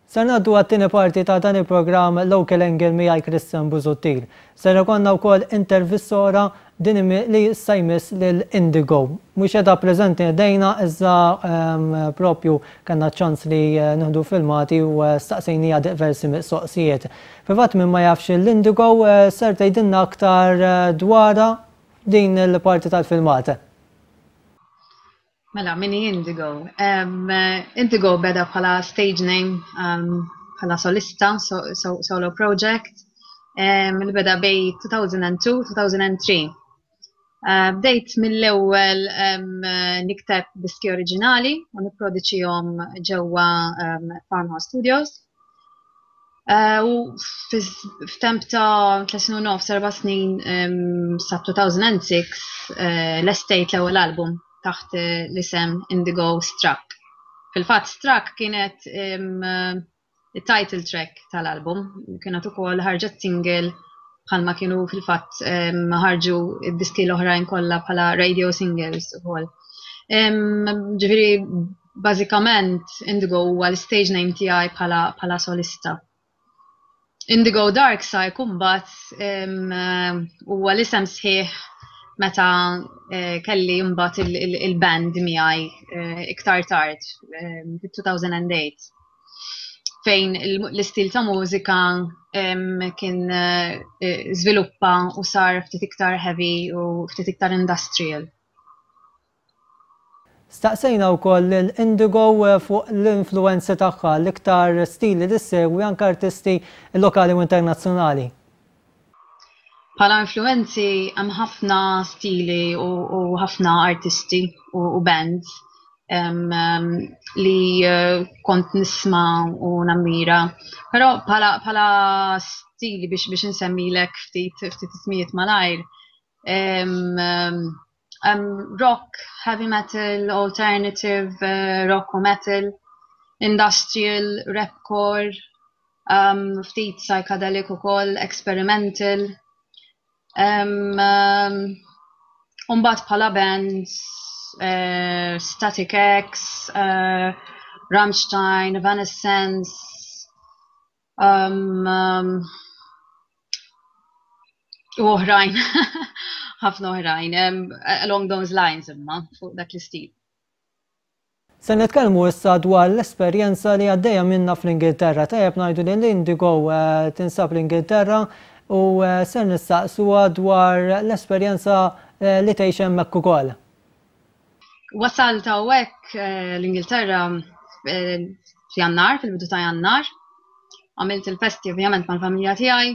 Ser ngħaddu għat-tieni parti ta' dan il-programm Local Angle miegħi Christian Busuttil. Ser ikollna wkoll intervista oħra din li issa jmiss lil Indigo. Mhux qiegħda preżenti ħdejna iżda propju kellna ċ-ċans li nieħdu filmati u staqsejniha diversi mistoqsijiet. Fil-fatt min ma jafx lil Indigo ser tgħidilna aktar dwarha din il-parti tal-filmat. Mela, min hi Indigo? Um, Indigo beda bħala stage name, um, bħala solista, so, so, solo project, um, li beda bej 2002-2003. Uh, bdejt mill-ewwel um, nikteb diski oriġinali u nipproduċihom ġewwa um, Farmhouse Studios. Uh, u f'temp ta' 3 snin u nofs, 4 snin um, sa' 2006 uh, l-estate l-ewwel album taħt eh, l-isem Indigo Struck. Fil-fatt Struck kienet um, title track tal-album, kienet ukoll ħarġet single bħalma kienu fil-fatt um, ħarġu id-diski l-oħrajn kollha bħala radio singles ukoll. Um, ġifieri Bażikament Indigo huwa l-stage name tiegħi bħala bħala solista. Indigo Dark Side imbagħad huwa l-isem sħiħ meta eh, kelli mbagħad il-band miegħi eh, iktar tard fit-2008 fejn l-istil ta' mużika kien eh, żviluppa u sar ftit iktar heavy u ftit iktar industrial. Staqsejna wkoll lil Indigo fuq l-influwenzi tagħha, l-iktar stili li ssegwi anke artisti lokali u internazzjonali. Bħala influwenzi hemm ħafna stili u ħafna artisti u bands li kont nisma' u nammira. Però bħala stili biex biex insemmilek ftit ftit ismijiet malajr, um, rock, heavy metal, alternative, uh, rock u metal, industrial, rapcore, um, ftit psychedelic ukoll, experimental. Um, um, Umbat bħala bands, uh, Static X, uh, Rammstein, Evanescence, Um, um, u oħrajn, ħafna oħrajn, um, along those lines imma, fuq dak l-istil. Se nitkellmu issa dwar l-esperjenza li għaddejja minna fl-Ingilterra. Tajjeb ngħidu li l-Indigo eh, tinsab l-Ingilterra u eh, ser nistaqsuha dwar l-esperjenza eh, li tgħix hemmhekk ukoll. Wasalt hawnhekk eh, l-Ingilterra eh, f'Jannar, fil-bidu ta' Jannar. Għamilt il-festi ovvjament mal-familja tiegħi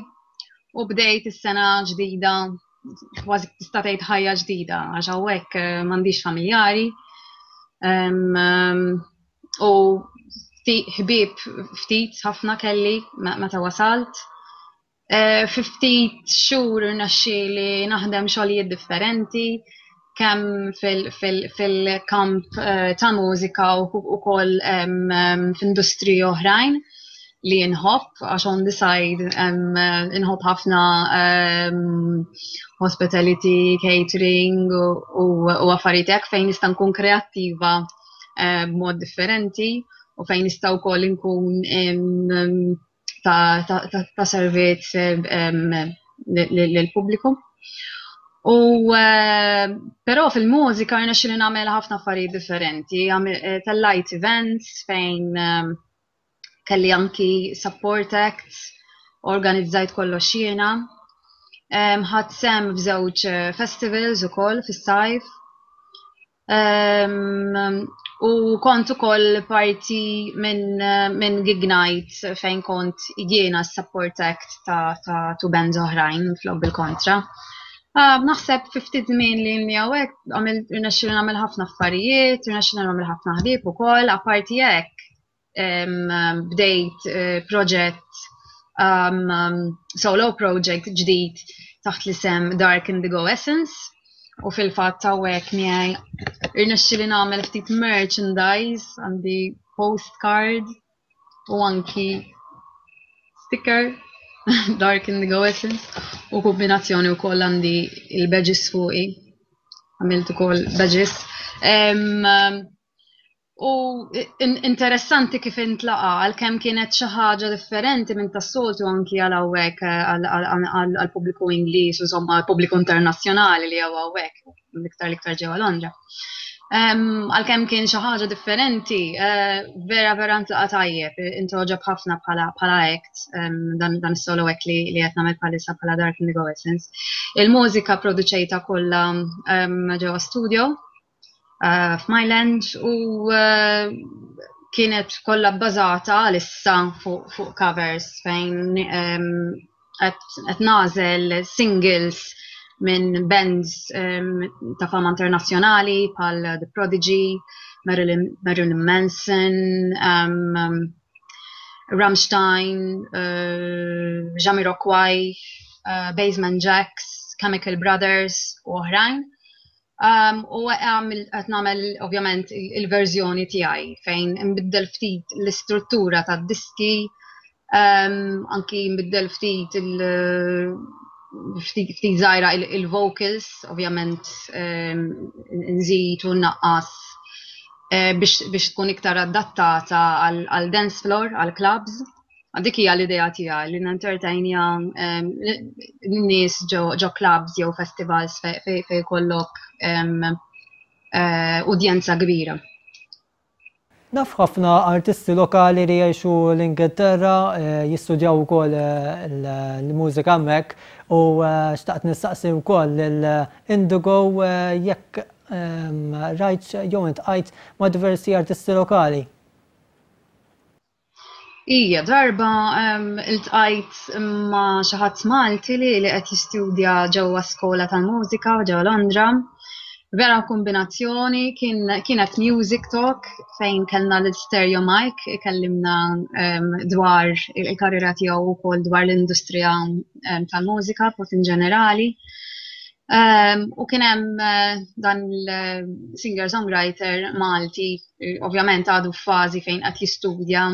u bdejt is-sena ġdida, kważi tista' tgħid ħajja ġdida għax hawnhekk eh, m'għandix familjari. U ħbieb ftit ħafna kelli meta wasalt. Eh, fi ftit xhur irnexxieli naħdem xogħlijiet differenti kemm fil-kamp eh, ta' mużika u ukoll f'industriji oħrajn li nħobb għax on the side inħobb ħafna hospitality, catering u affarijiet hekk fejn nista' nkun kreattiva eh, b'mod differenti u fejn nista' wkoll nkun ta', ta, ta, ta servizz lill-pubbliku. U eh, però fil-mużika rnexxieli nagħmel ħafna affarijiet differenti, eh, tellajt events fejn kelli anki support acts, organizzajt kollox jiena. Ħadt sem f'żewġ eh, festivals ukoll fis-sajf. Um, u kont ukoll parti minn min gig night fejn kont jiena support act ta', ta two bands oħrajn flok bil-kontra. Uh, naħseb fi ftit żmien li ilni hawnhekk għamilt irnexxieli nagħmel ħafna affarijiet, irnexxieli nagħmel ħafna ħbieb ukoll, apparti hekk bdejt eh, proġett um, solo project ġdid taħt l-isem Dark Indigo Essence u fil-fatt hawnhekk miegħi irnexxieli nagħmel ftit merchandise għandi postcard u anki sticker Dark Indigo Essence u kombinazzjoni wkoll għandi il-badges fuqi għamilt ukoll badges. Um, U interessanti kif intlaqa għalkemm kienet xi ħaġa differenti minn tas-soltu anki għal hawnhekk għall-pubbliku Ingliż, insomma għall-pubbliku internazzjonali li hawn hawnhekk, l-iktar l-iktar ġewwa Londra. Għalkemm kien xi ħaġa differenti, eh, vera vera ntlaqa tajjeb, intogħġob ħafna bħala bħala act, dan dan is-solo act li li qed nagħmel bħalissa bħala Dark Indigo Essence. Il-mużika produċejta kollha ġewwa studio eh, f'Myland u eh, kienet kollha bbażata għalissa fuq fu covers fejn qed nagħżel singles minn bands ta' fama internazzjonali bħal The Prodigy, Marilyn, Marilyn Manson, um, Rammstein, uh, Jamiroquai, uh, Basement Jacks, Chemical Brothers u oħrajn. Um, u qed nagħmel ovvjament il-verżjoni tiegħi fejn nbiddel ftit l-istruttura tad-diski, um, anki nbiddel ftit il- ftit żgħira il-vocals, ovvjament um, nżid u nnaqqas eh, biex tkun iktar adattata għal dance floor, għal clubs. Dik hija l-idea tiegħi li nentertainja ehm, n-nies ġo clubs jew festivals fejn jkollok ehm, eh, udjenza kbira. Naf ħafna artisti lokali li jgħixu l-Ingilterra, eh, jistudjaw ukoll eh, l-mużika hemmhekk u xtaqt nistaqsi wkoll lil Indigo jekk ehm, rajt jew intqajt ma' diversi artisti lokali. Ija, darba iltqajt ma' xi ħadd Malti li li qed jistudja ġewwa skola tal-mużika ġewwa Londra. Vera kombinazzjoni kien kienet music talk fejn kellna l-stereo mic ikellimna dwar il-karriera tiegħu wkoll dwar l-industrija tal-mużika b'mod in ġenerali. U kien hemm eh, dan il-singer-songwriter Malti ovvjament għadu f'fażi fejn qed jistudja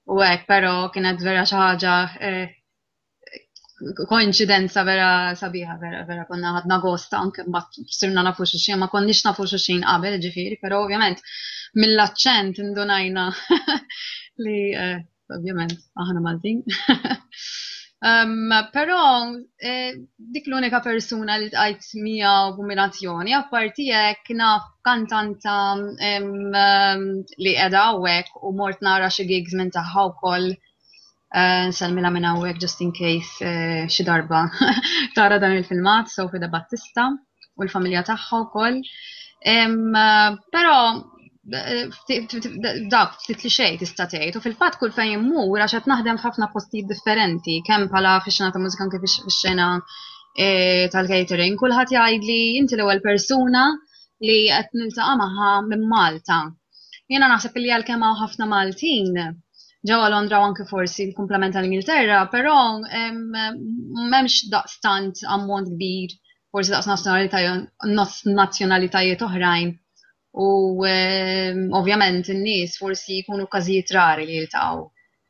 u hekk, però kienet vera xi ħaġa eh, koinċidenza vera sabiħa, vera vera konna ħadna gost anke mbagħad sirna nafu xulxin, ma konniex nafu xulxin qabel ġifieri, però ovvjament mill-aċċent indunajna li eh, ovvjament aħna Maltin. um, però eh, dik l-unika persuna li tqajt miegħu kombinazzjoni, apparti hekk naf kantanta um, li qiegħda hawnhekk u mort nara xi gigs minn tagħha wkoll. Uh, nsellmilha minn hawnhekk just in case uh, xi darba tara dan il-filmat, Sofia da Battista u l-familja tagħha wkoll. Um, però dak ftit li xejn tista' tgħid u fil-fatt kull fejn immur għax qed naħdem f'ħafna postijiet differenti kemm bħala fix-xena ta' mużika anke fix-xena e, tal-catering, kulħadd jgħidli inti l-ewwel persuna li qed niltaqa' magħha minn Malta. Jiena naħseb li għalkemm hawn ħafna Maltin ġewwa Londra u anke forsi l-kumplament tal-Ingilterra, però m'hemmx daqstant ammont kbir forsi daqs nazzjonalitajiet oħrajn U ehm, ovvjament in-nies forsi jkunu każijiet rari li jiltaqgħu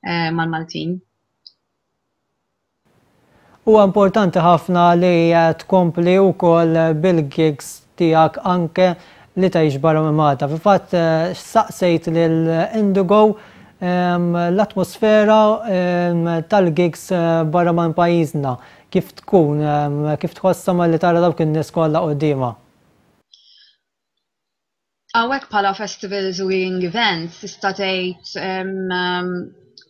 eh, mal-Maltin. Huwa importanti ħafna li eh, tkompli wkoll bil-gigs tiegħek anke li tgħix barra minn Malta. Fil-fatt eh, saqsejt lil Indigo ehm, l-atmosfera ehm, tal-gigs barra minn pajjiżna kif tkun, ehm, kif tħossha malli tara dawk in-nies kollha quddiemha. Hawnhekk bħala festivals u gigging events tista' tgħid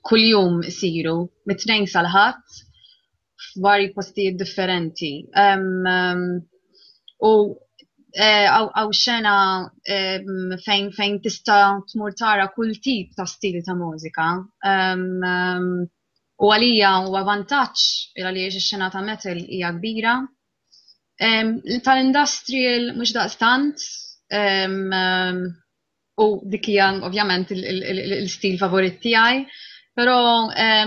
kuljum isiru mit-Tnejn sal-Ħadd f'vari postijiet differenti. U hawn xena fejn fejn tista' tmur tara kull tip ta' stil ta' mużika. U għalija huwa vantaġġ għaliex ix-xena ta' metal hija kbira Tal-industrial mhux daqstant u dik hija ovvjament il-stil favorit tiegħi, però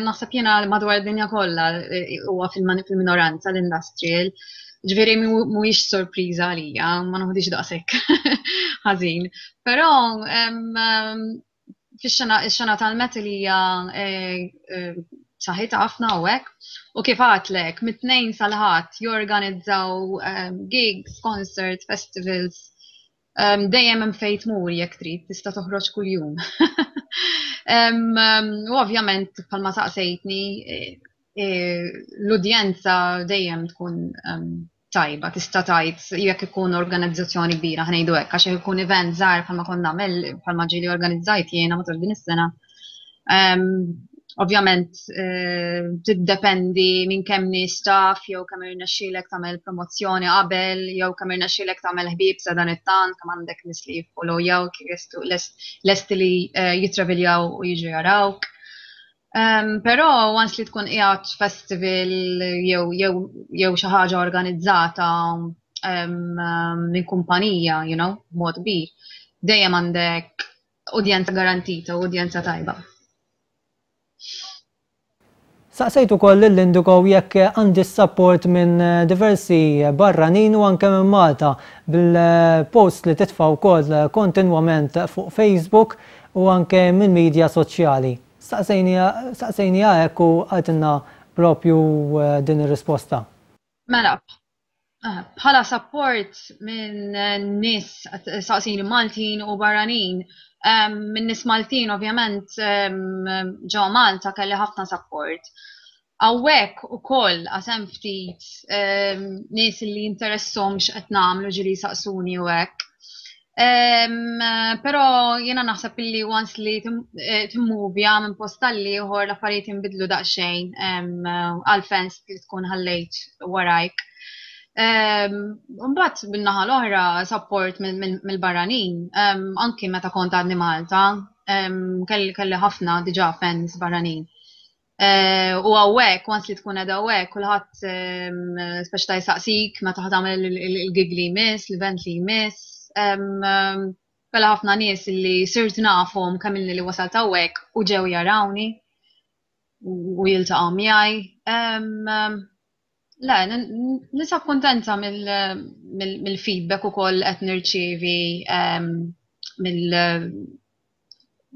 naħseb jiena madwar id-dinja kollha eh, huwa fil-minoranza l-industrial. Ġifieri mhuwiex sorpriża għalija, ma noħdix daqshekk ħażin. Però fix-xena ix-xena tal-metal hija eh, eh, saħħitha ħafna hawnhekk. U kif għadlek, mit-tnejn sal-ħadd jorganizzaw eh, gigs, concerts, festivals. Dejjem hemm fejn tmur jekk trid, tista' toħroġ kuljum. U ovvjament bħalma saqsejtni eh, eh, l-udjenza dejjem tkun tajba, tista' tgħid jekk ikun organizzazzjoni kbira ħnejdu hekk, għax jekk ikun event żgħar bħalma kont nagħmel bħalma ġieli organizzajt jiena matul din is-sena. Ovvjament eh, tiddependi minn kemm nies taf jew kemm irnexxielek tagħmel promozzjoni qabel jew kemm irnexxielek tagħmel ħbieb sa dan it-tant kemm għandek nies li jiffollowjawk lesti li eh, jitraviljaw u jiġu jarawk. Um, però once li tkun qiegħed festival jew jew jew xi ħaġa organizzata um, minn kumpanija, you know, b'mod kbir, dejjem għandek udjenza garantita u udjenza tajba. Saqsejt ukoll lil Indigo jekk għandi support minn diversi barranin u anke minn Malta bil-post li titfa' wkoll kontinwament fuq Facebook u anke minn media soċjali. Saqsejniha hekk u qaltilna propju din ir-risposta. Mela, bħala support minn nies saqsini Maltin u barranin, minn nies Maltin ovvjament ġewwa Malta kelli ħafna support. Hawnhekk ukoll għax hemm ftit nies li jinteresshom x'qed nagħmlu ġieli jsaqsuni u hekk. Però jiena naħseb illi once li eh, timmuvja minn post għal ieħor l-affarijiet jinbidlu daqsxejn għal fans li tkun ħallejt warajk. Mbagħad min-naħa l-oħra support mill-barranin, anki meta kont għadni Malta, kelli ħafna diġà fans barranin. Eh, u hawnhekk, once li tkun qed hawnhekk, kulħadd ehm, speċi ta' jsaqsik meta ħa tagħmel il-gig li jmiss, l-event li jmiss. Ehm, ehm, Bella ħafna nies li sirt nafhom kemm ilni li wasalt hawnhekk u ġew jarawni u jiltaqgħu miegħi. Le, ninsab kuntenta mill-feedback ukoll qed nirċievi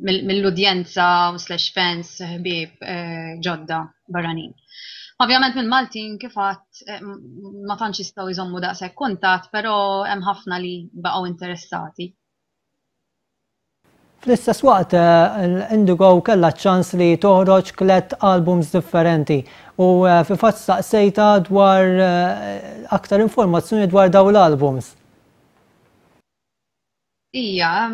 mill-udjenza slash fans ħbieb eh, ġodda barranin. Ovvjament minn Maltin kif għadt eh, ma tantx jistgħu jżommu daqshekk kuntatt, però hemm ħafna li baqgħu interessati. Fl-istess waqt, eh, Indigo kellha ċ-ċans li toħroġ tlet albums differenti u fil-fatt staqsejta dwar aktar informazzjoni dwar dawn l-albums. Ija,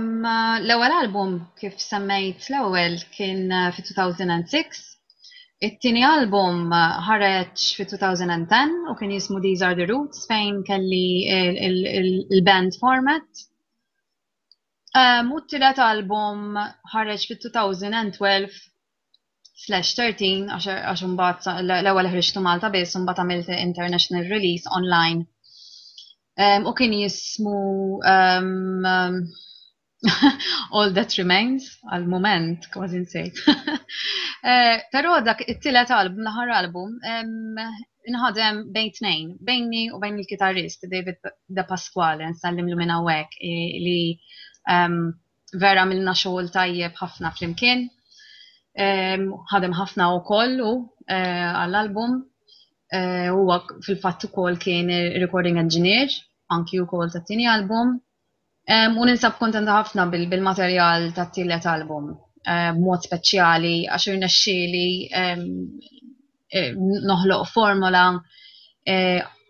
l-ewwel album kif semmejt l-ewwel kien eh, fi-2006. It-tieni album eh, ħareġ fi-2010 u kien jismu These Are The Roots fejn kelli il-band format. U t-tielet album ħareġ fit-2012 slash 13 għax imbagħad l-ewwel ħriġtu Malta biss u mbagħad għamilt international release online. U kien jismu um, All That Remains għal moment kważi nsejt. Eh, però dak it-tielet album, l-aħħar album, inħadem bejn tnejn, bejni u bejn il-kitarrist David De Pasquale, nsallimlu minn hawnhekk li vera għamilna xogħol tajjeb ħafna flimkien. Ħadem ħafna wkoll hu eh, għall-album. Eh, huwa fil-fatt ukoll kien recording engineer anki wkoll tat-tieni album. U ninsab kontenta ħafna bil-materjal tat-tielet album eh, b'mod speċjali għax irnexxieli noħloq formola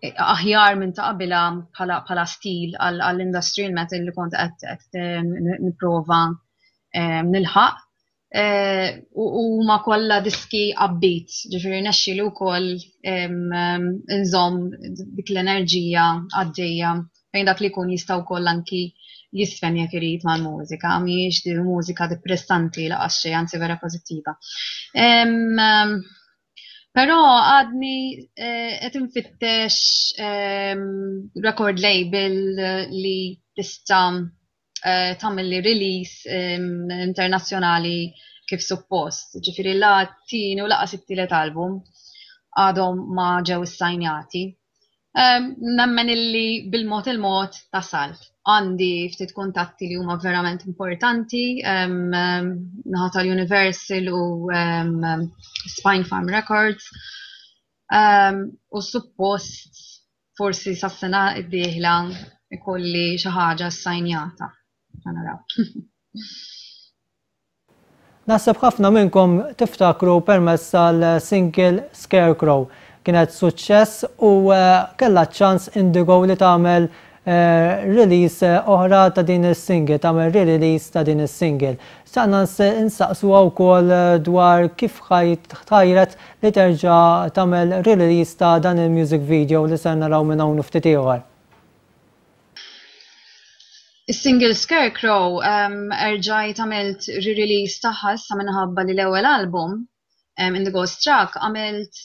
aħjar minn ta' qabilha bħala stil għall-industrial metal li kont qed nipprova nilħaq. U ma kollha diski upbeat, ġifieri nexxieli wkoll nżomm dik l-enerġija għaddejja fejn dak li jkun jista' wkoll anki jisfen jekk irid mal-mużika, mhijiex di mużika depressanti laqas xejn, anzi vera pożittiva. Però għadni eh, qed infittex ehm, record label li tista' eh, tagħmel li release ehm, internazzjonali kif suppost. Ġifieri la t-tieni u laqas it-tielet album għadhom ma ġew issajnjati. Nemmen illi bil-mod il-mod tasal. Għandi ftit kuntatti li huma verament importanti, naħa tal-Universal u Spine Farm Records. U suppost forsi sas-sena d-dieħla ikolli xi ħaġa ssajnjata. Naraw. Naħseb ħafna minnkom tiftakru permezz tal-single Scarecrow. Kienet suċċess u kellha ċans Indigo li tagħmel release oħra ta' din is-single, tagħmel re-release ta' din is-single. Xtaqna nsaqsuha wkoll dwar kif tħajret li terġa' tagħmel re-release ta' dan il-music video li ser naraw minn hawn ftit ieħor. Is-single Scarecrow erġajt għamilt re-release tagħha issa minħabba li l-ewwel album Indigo Struck għamilt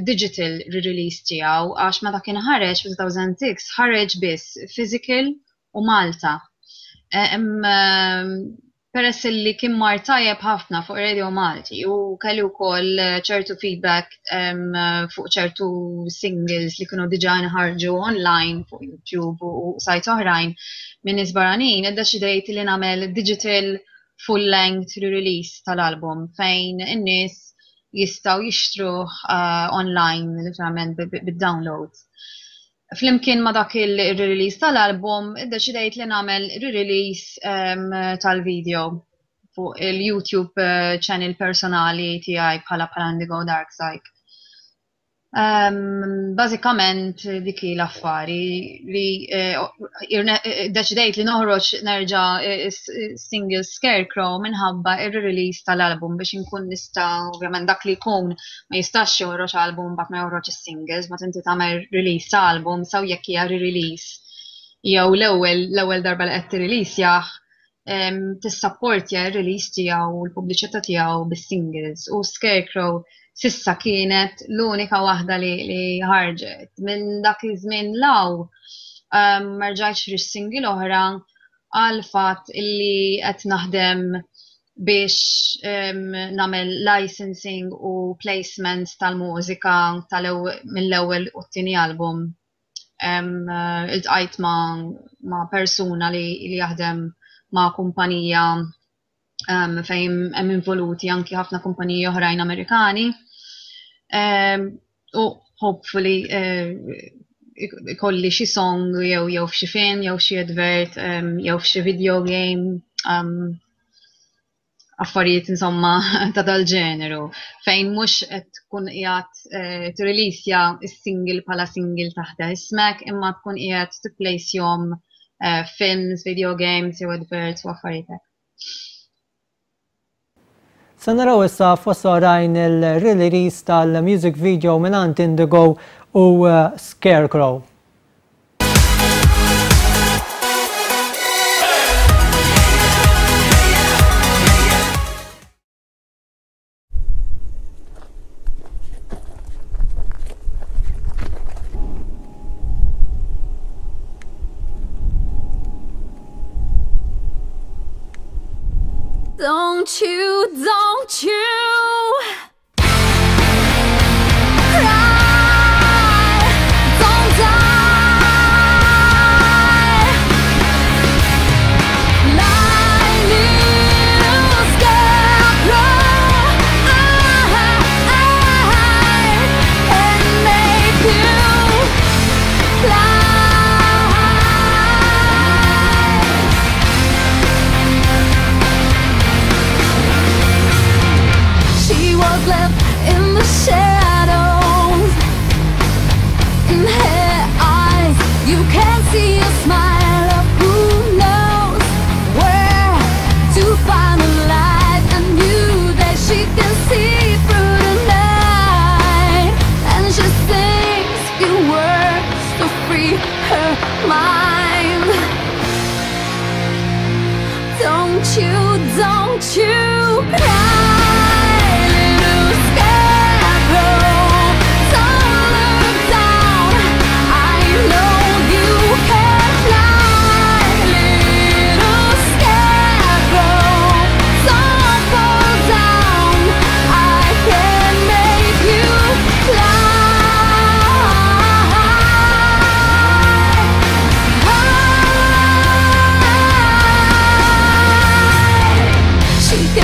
digital re-release tiegħu għax meta kien ħareġ fi 2006 ħareġ biss physical u Malta. Peress li kien mar tajjeb ħafna fuq Radio Malti u kelli wkoll ċertu feedback fuq ċertu singles li kienu diġà nħarġu online fuq YouTube u sites oħrajn minn nies barranin, iddeċidejt li nagħmel digital full length re-release tal-album fejn in-nies jistgħu jixtruh online literalment bid-download. Flimkien ma dak il-release tal-album, iddeċidejt li nagħmel re-release tal-video fuq il-YouTube channel personali tiegħi bħala Indigo Dark Psych. Bażikament dik hi l-affari li deċidejt li noħroġ nerġa' single Scarecrow minħabba ir-release tal-album biex inkun nista' ovvjament dak li jkun ma jistax joħroġ album mbagħad ma joħroġ is-singles, ma inti tagħmel release ta' album sew jekk hija re-release jew l-ewwel darba li qed tirreleasjah, tissapportja r-release tiegħu u l-pubbliċità tiegħu bis-singles, u Scarecrow s'issa kienet l-unika waħda li ħarġet. Minn dak iż-żmien law ma rġajtx ħriġt single oħra għal fatt illi qed naħdem biex nagħmel licensing u placement tal-mużika mill-ewwel u t-tieni album. Iltqajt ma' persuna li jaħdem ma' kumpanija fejn hemm involuti anki ħafna kumpaniji oħrajn Amerikani. U hopefully ikolli xi song jew f'xi film jew xi advert jew f'xi video game, affarijiet insomma ta' dal-ġeneru fejn mhux qed tkun qiegħed tirreleasja s-single bħala single taħt ismek, imma tkun qiegħed tipplejsjhom films, video games jew adverts u affarijiet hekk. Se naraw issa fost oħrajn il-release tal-music video mingħand Indigo u Scarecrow. Don't you cry, don't die. My little scarecrow, I can make you fly. She was left in the shadows. In her eyes, you can see a smile of who knows where to find the light, and knew that she can see through the night. And she sings few words to free her mind. Don't you cry, little scarecrow. Don't look down. I know you can fly, little scarecrow. Don't fall down. I can make you fly. She can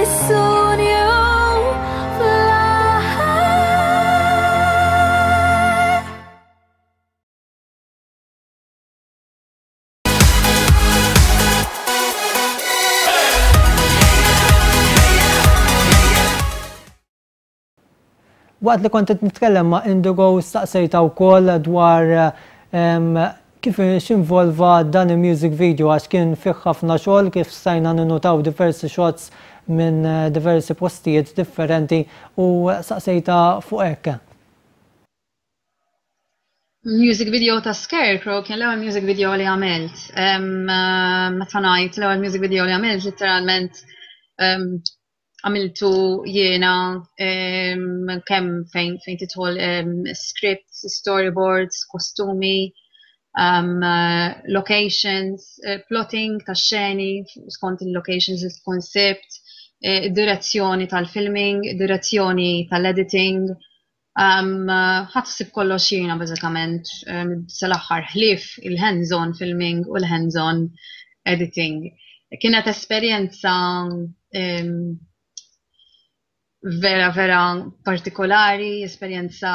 Soon you'll fly. Waqt li kont qed nitkellem ma' Indigo staqsejtha wkoll dwar kif x'involva dan il-music video għax kien fih ħafna xogħol kif stajna ninnutaw diversi shots minn diversi postijiet differenti u saqsejtha fuq hekk. Music video ta' Scarecrow kien l-ewwel music video li għamilt. Meta ngħid l-ewwel music video li għamilt, literalment għamiltu jiena kemm fejn fejn tidħol scripts, storyboards, kostumi, locations, plotting ta' xeni skont il-locations li tkun sibt, direzzjoni tal-filming, direzzjoni tal-editing. Ħadt ħsieb kollox jiena bażikament sal-aħħar ħlief il-hands-on filming u l-hands-on editing. Kienet esperjenza vera vera partikolari, esperjenza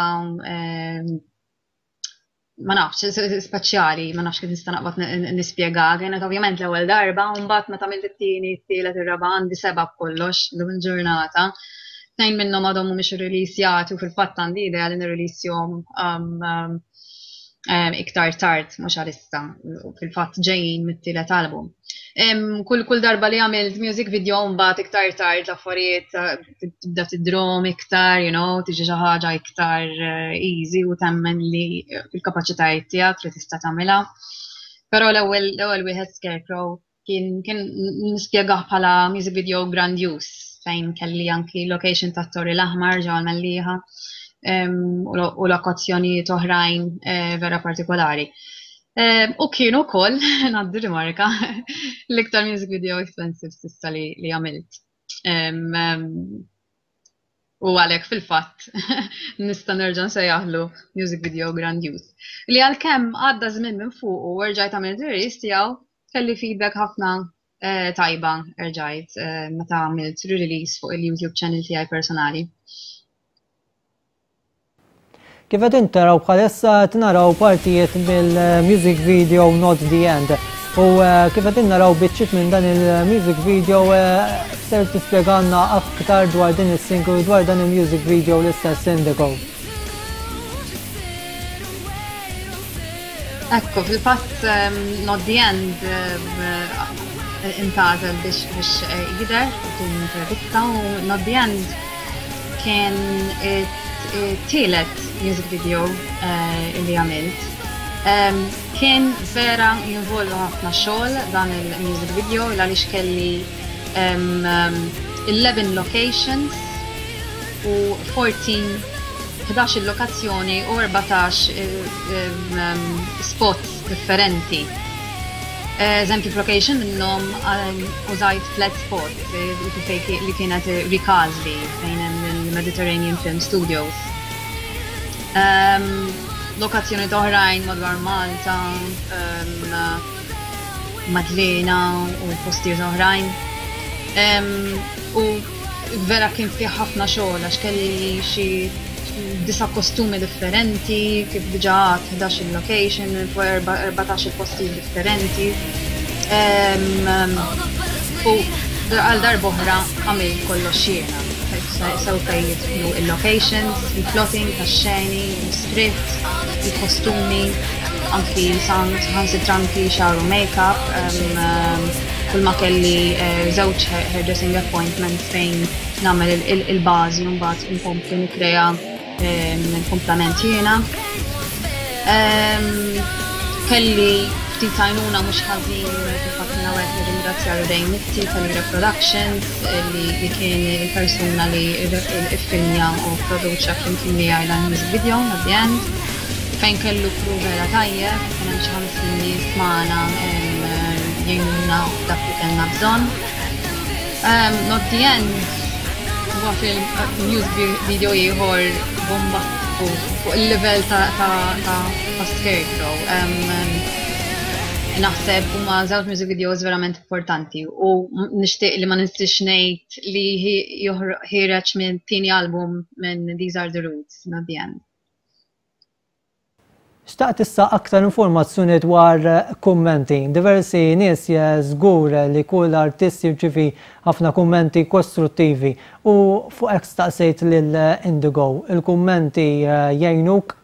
ma nafx, speċjali, ma nafx kif nista' naqbad nispjega. Kienet ovvjament l-ewwel darba, u mbagħad meta għamilt it-tieni, it-tielet, ir-raba' għandi seba' b'kollox llum il-ġurnata. Tnejn minnhom għadhom mhumiex irrilisjati u fil-fatt għandi idea li nirrilisjhom um, um, um, iktar tard mhux għalissa, fil-fatt ġejjin mit-tielet album. Kull kull darba li għamilt music video mbagħad iktar tard l-affarijiet tibda tidrom iktar, you know, tiġi xi ħaġa iktar eh, easy u temmen li fil-kapaċitajiet tiegħek li tista' tagħmilha. Però l-ewwel l-ewwel wieħed Scarecrow kien kien nispjegah bħala music video grandjuż fejn kelli anki location tat-Torri l-Aħmar ġewwa l-Mellieħa u lokazzjonijiet oħrajn eh, vera partikolari. U kienu wkoll, ngħaddi rimarka, l-iktar music video expensive s'issa li, li għamilt. U għalhekk fil-fatt nista' nerġa' nsejjaħlu music video grandjuż. Li għalkemm għadda żmien minn fuq u rġajt għamilt release tiegħu, kelli feedback ħafna eh, tajba erġajt eh, meta għamilt release fuq il-YouTube channel tiegħi personali. Kif qed taraw bħalissa qed naraw partijiet mill-music video Not The End. U eh, kif qed naraw biċċiet minn dan il-music video eh, ser tispjegalna aktar dwar din is-single dwar dan il-music video l-istess Indigo. Ekku, fil-fatt ehm, Not The End ehm, intgħażel biex biex eh, jidher din intervista u Not The End Kien it-tielet music video eh, li għamilt. Kien vera jinvolvu ħafna xogħol dan il-music video għaliex kelli 11 locations u 14 11 lokazzjoni u 14 spots differenti. Eżempju f'location minnhom użajt flat spot li kienet Ricasli fejn hemm il-Mediterranean Film Studios. Lokazzjoni oħrajn madwar Malta, Madlena u postijiet oħrajn. U vera kien fih ħafna xogħol għax kelli xi disa' kostumi differenti, kif diġà għedt 11-il location, fuq 14-il postijiet differenti. U għal darb'oħra għamilt kollox jiena. Sew fejn jidħlu il-locations, il-plotting tax-xeni, l-script, il-kostumi, anki saħansitra anki xagħar u make-up. Kull ma kelli żewġ hairdressing appointments fejn nagħmel il-bażi u mbagħad inkompli nikkrea il-kumplament jiena. Kelli ftit għajnuna mhux ħażin fil-fatt minn hawnhekk nirringrazzja Ray Mitti tal-Ira Productions li kien il-persuna li iffilmja u pproduċa flimkien miegħi dan il-music video at the end fejn kellu crew vera tajjeb, kien hemm xi 50 nies magħna jgħinuna f'dak li kellna bżonn. Not the End huwa film music video ieħor bombastiku fuq il-livell ta' ta' ta' Scarecrow. Naħseb huma żewġ music videos verament importanti u nixtieq li ma nistax ngħid li ħiereġ minn tieni album minn These Are The Roots, not the end. Xtaqt issa aktar informazzjoni dwar kummenti. Diversi nies żgur li kull artist jirċievi ħafna kummenti kostruttivi u fuq hekk staqsejt lil Indigo. Il-kummenti jgħinuk?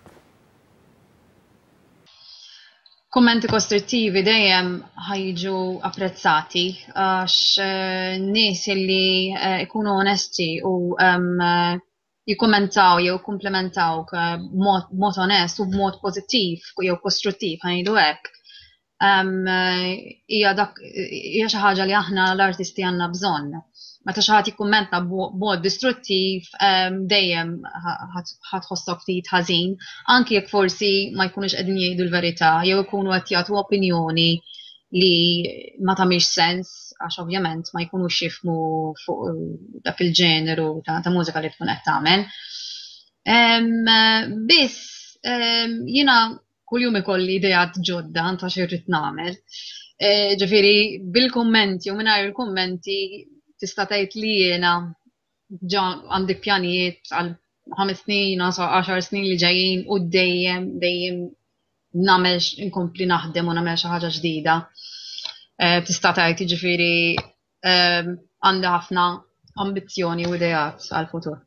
Kummenti kostruttivi dejjem ħa jiġu apprezzati għax nies li jkunu onesti u jikkummentaw jew jikkumplimentawk b'mod onest u b'mod pożittiv jew kostruttiv ħa ngħidu hekk. Hija dak hija xi ħaġa li aħna l-artisti għandna bżonn. Meta xi ħadd jikkummenta b'mod distruttiv dejjem ħa tħossok ftit ħażin, anki jekk forsi ma jkunux qegħdin jgħidu l-verità jew ikunu qed jagħtu opinjoni li ma tagħmilx sens għax ovvjament ma jkunux jifhmu fuq dak il-ġeneru ta', ta mużika li tkun qed tagħmel. Biss jiena kuljum ikolli ideat ġodda ta' xi rrid nagħmel. E, ġifieri bil-kummenti u mingħajr il-kummenti tista' tgħid li jiena ġa għandi pjanijiet għal ħames snin, għaxar snin li ġejjin u dejjem dejjem nagħmel inkompli naħdem u nagħmel xi ħaġa ġdida. Eh, tista' tgħid jiġifieri eh, għandi ħafna ambizzjoni u ideat għall-futur.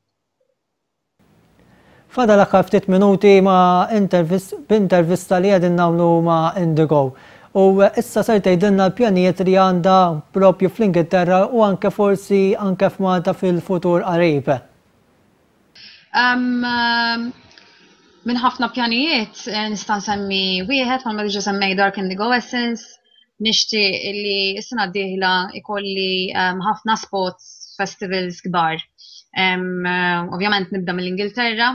Fadal l-aħħar ftit minuti ma' b'intervista li qegħdin nagħmlu ma' Indigo. U issa ser tgħidilna l-pjanijiet li għandha propju fl-Ingilterra u anke forsi anke f'Malta fil-futur qarib. Minn ħafna pjanijiet eh, nista' nsemmi wieħed bħalma diġà semmej Dark Indigo Essence, nixtieq li s-sena d-dieħla ikolli ħafna spots festivals kbar. Eh, ovvjament nibda mill-Ingilterra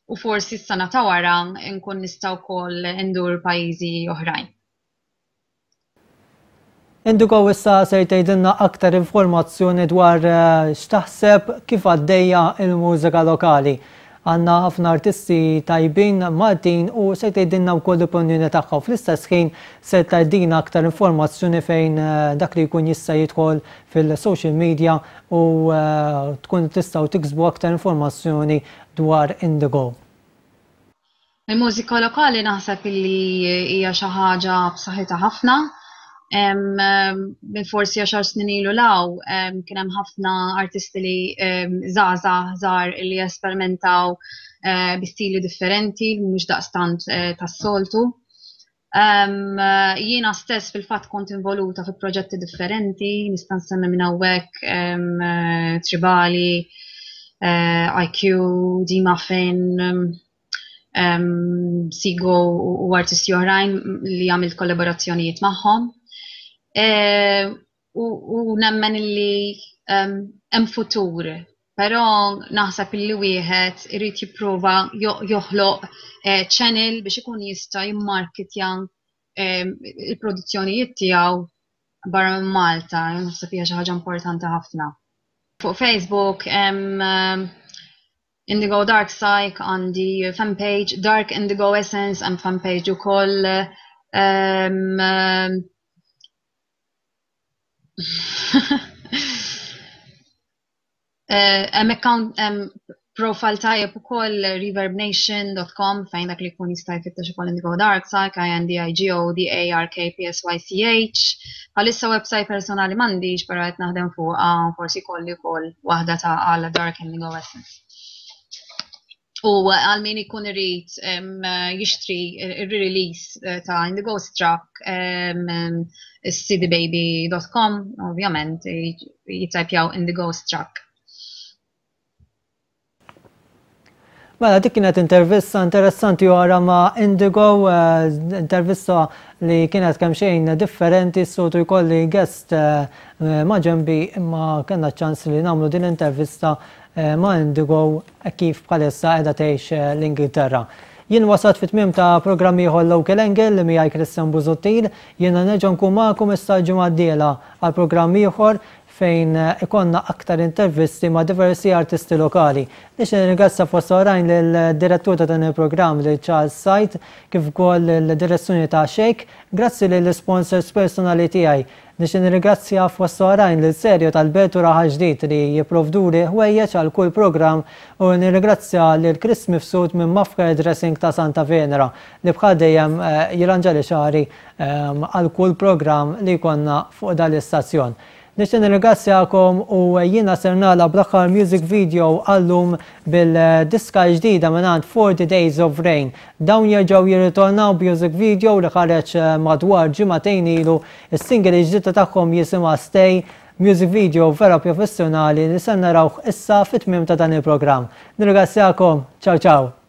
u forsi s-sena ta' wara nkun nista' wkoll indur pajjiżi oħrajn. Indigo issa ser tgħidilna aktar informazzjoni dwar x'taħseb kif għaddejja l-mużika lokali. Għandna ħafna artisti tajbin Maltin u ser tgħidilna wkoll l-opinjoni tagħha u fl-istess ħin ser tgħaddina aktar informazzjoni fejn dak li jkun jista' jidħol fil-social media u tkun tistgħu tiksbu aktar informazzjoni dwar Indigo. Il-mużika lokali naħseb illi hija xi ħaġa b'saħħitha ħafna. Minn forsi għaxar snin ilu law kien hemm ħafna artisti li żgħażagħ żgħar li esperimentaw eh, bi stili differenti, mhux daqstant eh, tas-soltu. Jiena stess fil-fatt kont involuta fi proġetti differenti, nista' nsemmi minn hawnhekk Tribali, eh, IQ, D-Muffin, Sigo u artisti oħrajn li għamilt kollaborazzjonijiet magħhom. Eh, u nemmen li hemm futur, però naħseb li wieħed irid jipprova joħloq eh, channel biex ikun jista' jimmarketja il-produzzjonijiet tiegħu barra minn Malta, naħseb hija xi ħaġa importanti ħafna. Fuq Facebook hemm Indigo Dark Psych għandi fanpage, Dark Indigo Essence hemm fanpage ukoll. Um, Hemm account hemm profile tajjeb ukoll reverbnation.com fejn dak li jkun jista' jfittex ukoll Indigo Dark Psych, I N D I G O D A R K P S Y C H. Bħalissa website personali m'għandix però qed naħdem fuqha forsi jkolli wkoll waħda ta' għal Dark Indigo Essence. U għal min ikun irid jixtri ir-release eh, ta' Indigo Struck cdbaby.com ovvjament jittajpjaw Indigo Struck. Mela dik kienet intervista interessanti oħra ma' Indigo, eh, intervista li kienet kemm xejn differenti, s-soltu jkolli guest eh, ma' ġembi imma kellna ċans li nagħmlu din l-intervista eh, ma' Indigo kif bħalissa qiegħda tgħix l-Ingilterra. Jien wasat fit tmiem ta' programm ieħor Local Angle li miegħi Christian Busuttil, jiena nerġa' nkun magħkom issa l-ġimgħa d-dieħla għal programm ieħor. fejn ikollna aktar intervisti ma' diversi artisti lokali. Nixtieq nirringrazzja fost oħrajn lill-direttur ta' dan il-programm lil Charles Said kif ukoll lill-direzzjoni ta' Shake. Grazzi lill-isponsors personali tiegħi. Nixtieq nirringrazzja fost oħrajn lil Sergio tal-Belt u Raħal Ġdid li jipprovduli ħwejjeġ għal kull programm u nirringrazzja lil Chris Mifsud minn Mafka Dressing ta' Santa Venera li bħal dejjem jirranġali xagħri għal kull programm li jkollna fuq dan l-istazzjon. Nixtieq nirringrazzjakom u jiena ser nagħlaq bl-aħħar music video għallum bil-diska ġdida mingħand 40 Days of Rain. Dawn jerġgħu jirritornaw b'music video li ħareġ madwar ġimagħtejn ilu. Is-single ġdida tagħhom jisimha Stay, music video vera professjonali li se narawh issa fit-tmiem ta' dan il-programm. Nirringrazzjakom, ciao ciao!